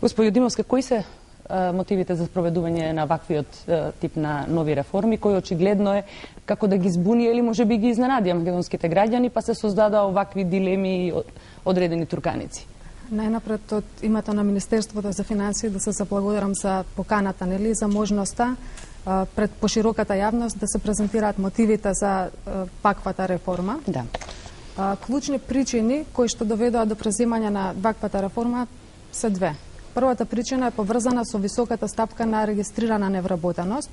Господи Димовска, кои се мотивите за спроведување на ваквиот тип на нови реформи, кој очигледно е како да ги збуни или може би ги изненадија македонските граѓани, па се создадоа овакви дилеми и одредени турканици? Најнапред од името на Министерството за финансии да се заблагодарам за поканата, нели, за можноста пред пошироката јавност да се презентираат мотивите за ваквата реформа. Да. Клучни причини кои што доведоа до преземање на ваквата реформа се две. Првата причина е поврзана со високата стапка на регистрирана невработеност.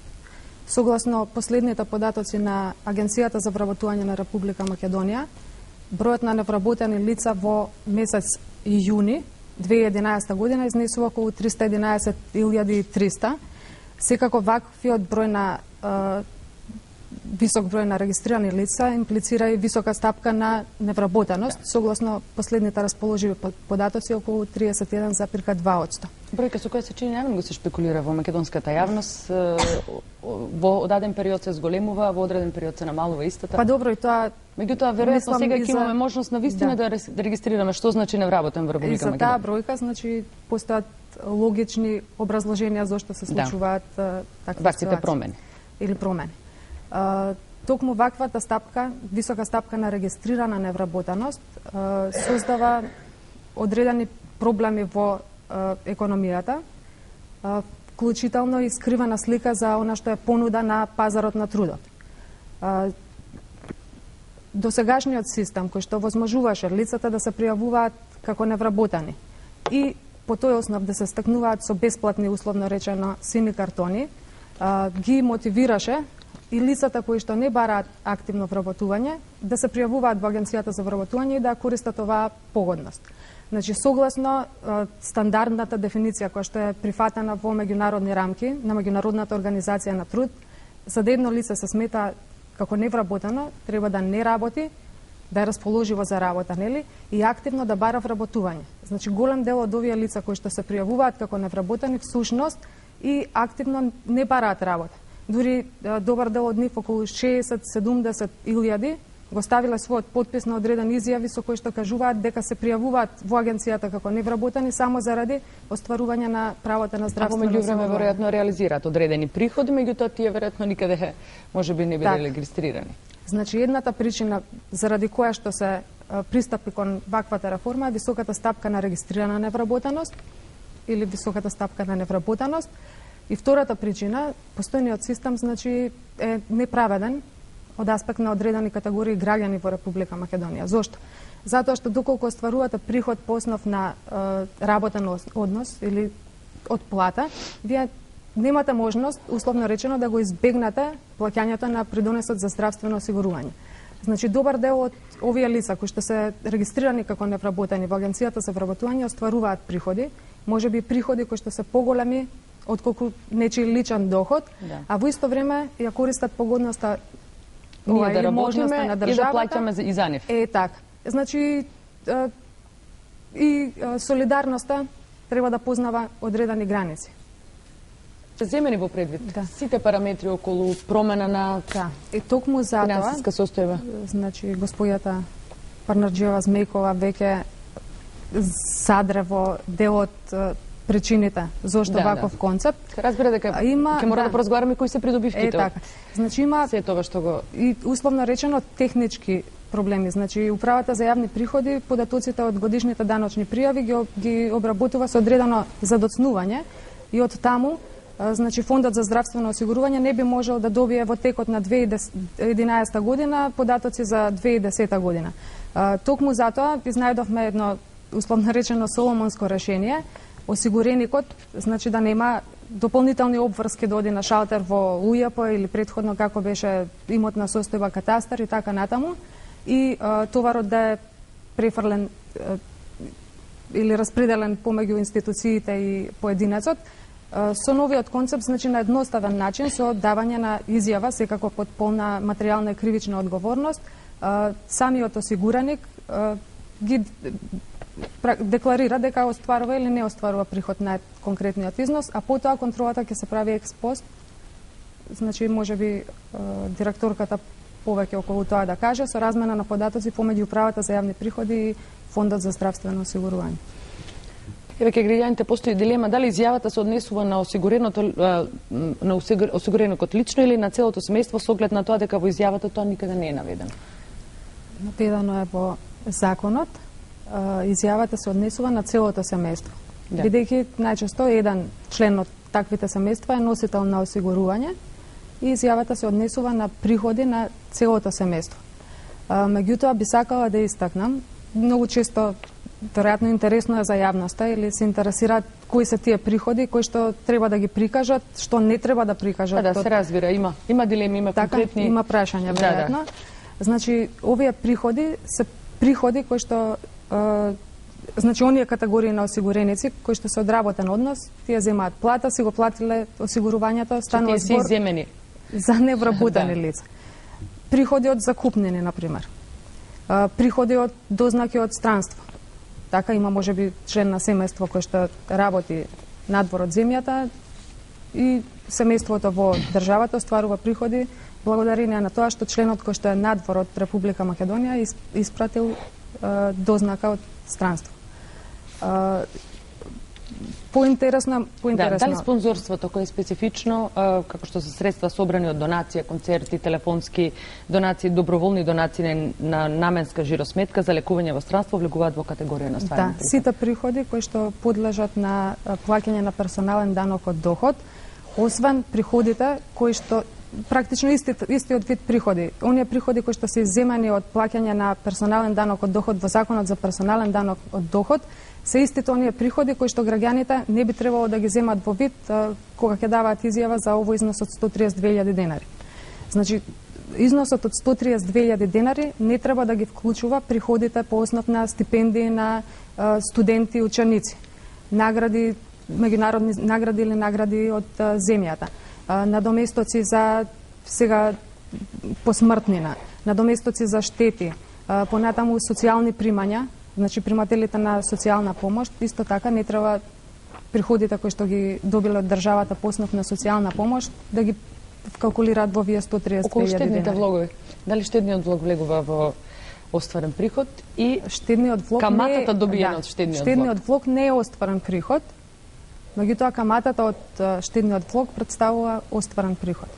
Согласно последните податоци на Агенцијата за вработување на Република Македонија, бројот на невработени лица во месец јуни 2011 година изнесува околу 311.300. Секако ваквиот број на висок број на регистрирани лица имплицира и висока стапка на невработеност, согласно последните расположиви податоци околу 31,2%. Бројка со која се чини најмногу го се шпекулира во македонската јавност, во одаден период се зголемува, во одреден период се намалува истата. Па добро, и тоа меѓутоа веројатно сега ќе имаме можност на вистина да регистрираме што значи невработен во Република Македонија. И за таа бројка значи постојат логични образложенија зошто се случуваат такви ситуации промени или промени. Токму ваквата стапка, висока стапка на регистрирана невработеност, создава одредени проблеми во економијата, вклучително и скривена слика за она што е понуда на пазарот на трудот. Досегашниот систем кој што возможуваше лицата да се пријавуваат како невработени и по тој основ да се стекнуваат со бесплатни, условно речено, сини картони, ги мотивираше и лицата кои што не бараат активно вработување да се пријавуваат во Агенцијата за вработување и да користат оваа погодност. Значи, согласно стандардната дефиниција која што е прифатена во меѓународни рамки на Меѓународната организација на труд, за да едно лице се смета како невработено, треба да не работи, да е расположиво за работа, нели, и активно да бара вработување. Значи, голем дел од овие лица кои што се пријавуваат како невработени всушност и активно не бараат работа. Дури добар дел од нив, околу 60-70 илјади, го ставиле својот подпис на одреден изјави со кои што кажуваат дека се пријавуваат во агенцијата како невработени само заради остварување на правото на здравствено осигурување. А во меѓувреме веројатно реализираат одредени приходи, меѓутоа тие веројатно никаде можеби не биле регистрирани. Значи, едната причина заради која што се пристапи кон ваквата реформа е високата стапка на регистрирана невработеност или високата стапка на невработеност. И втората причина, постојниот систем, значи, е неправеден од аспект на одредени категории граѓани во Република Македонија. Зошто? Затоа што доколку остварувате приход по основ на работен однос или од плата, вие немате можност, условно речено, да го избегнете плаќањето на придонесот за здравствено осигурување. Значи, добар дел од овие лица кои што се регистрирани како невработени во Агенцијата за вработување остваруваат приходи, можеби приходи кои што се поголеми отколку нечи личен доход, а во исто време ја користат погодноста ние да работиме и да плаќаме и за нив. Така. Значи, и солидарноста треба да познава одредени граници. Земени во предвид сите параметри околу промена на и токму затоа финансиска состојба. Значи, господјата Парнарџиева Змејкова веќе садре во дел од причините зошто ваков концепт. Разбира дека ќе мора да поразговараме кои се придобивките. Така. Значи има се тоа што го и условно речено технички проблеми. Значи управата за јавни приходи податоците од годишните даночни пријави ги обработува со одредено задоцнување и од таму значи фондот за здравствено осигурување не би можел да добие во текот на 2011 година податоци за 2010 година. Токму затоа изнајдовме едно условно речено соломонско решение. Осигуреникот, значи да нема дополнителни обврски да оди на шалтер во УЈП или претходно како беше имотна состојба катастар и така натаму, и товарот да е префрлен или распределен помеѓу институциите и поединецот, со новиот концепт, значи на едноставен начин, со давање на изјава, секако под полна материјална и кривична одговорност, самиот осигураник ги декларира дека остварува или не остварува приход на конкретниот износ, а потоа контролата ќе се прави експост. Значи, можеби директорката повеќе околу тоа да каже, со размена на податоци помеѓу управата за јавни приходи и фондот за здравствено осигурување. Еве кај граѓаните постои дилема дали изјавата се однесува на осигуреникот лично или на целото семејство, со оглед на тоа дека во изјавата тоа никаде не е наведено. Наведено е во законот, изјавата се однесува на целото семејство. Да. Бидејќи најчесто еден член од таквите семејства е носител на осигурување и изјавата се однесува на приходи на целото семејство. Меѓутоа би сакала да истакнам, многу често веројатно интересно е за јавноста или се интересираат кои се тие приходи, кои што треба да ги прикажат, што не треба да прикажат. Да, се разбира, има дилеми, има конкретни... Има прашања, веројатно. Значи, овие приходи се приходи кои што значи оние категории на осигуреници кои што се одработен однос, тие земаат плата, си го платиле осигурувањето, станува збор за невработени лица. Приходи од закупнини, например. Приходи од дознаки од странство. Така има можеби член на семејство кој што работи надвор од земјата и семејството во државата остварува приходи благодарение на тоа што членот кој што е надвор од Република Македонија испратил дознака од странство. Поинтересно. Да, дали спонзорството кое е специфично, како што се средства собрани од донација, концерти, телефонски донации, доброволни донации на наменска жиросметка за лекување во странство влегуваат во категорија на стварни приходи? Да, сите приходи кои што подлежат на плаќање на персонален данок од доход, освен приходите кои што практично истиот вид приходи. Оние приходи кои што се изземани од плаќање на персонален данок од доход во Законот за персонален данок од доход, се истите оние приходи кои што граѓаните не би требало да ги земат во вид кога ќе даваат изјава за овој износ од 132.000 денари. Значи, износот од 132.000 денари не треба да ги вклучува приходите по основ на стипендии на студенти и ученици, награди, меѓународни награди или награди од земјата, надоместоци за сега посмртнина, надоместоци за штети, понатаму социјални примања. Значи, примателите на социјална помош, исто така не треба приходите кои што ги добиле од државата по основ на социјална помош да ги калкулираат во овие 132.000 Околу штедните денари. влогови. Дали штедниот влог влегува во остварен приход и штедниот влог каматата добиена од штедниот влог? Штедниот влог не е остварен приход, меѓутоа каматата од штедниот влог претставува остварен приход.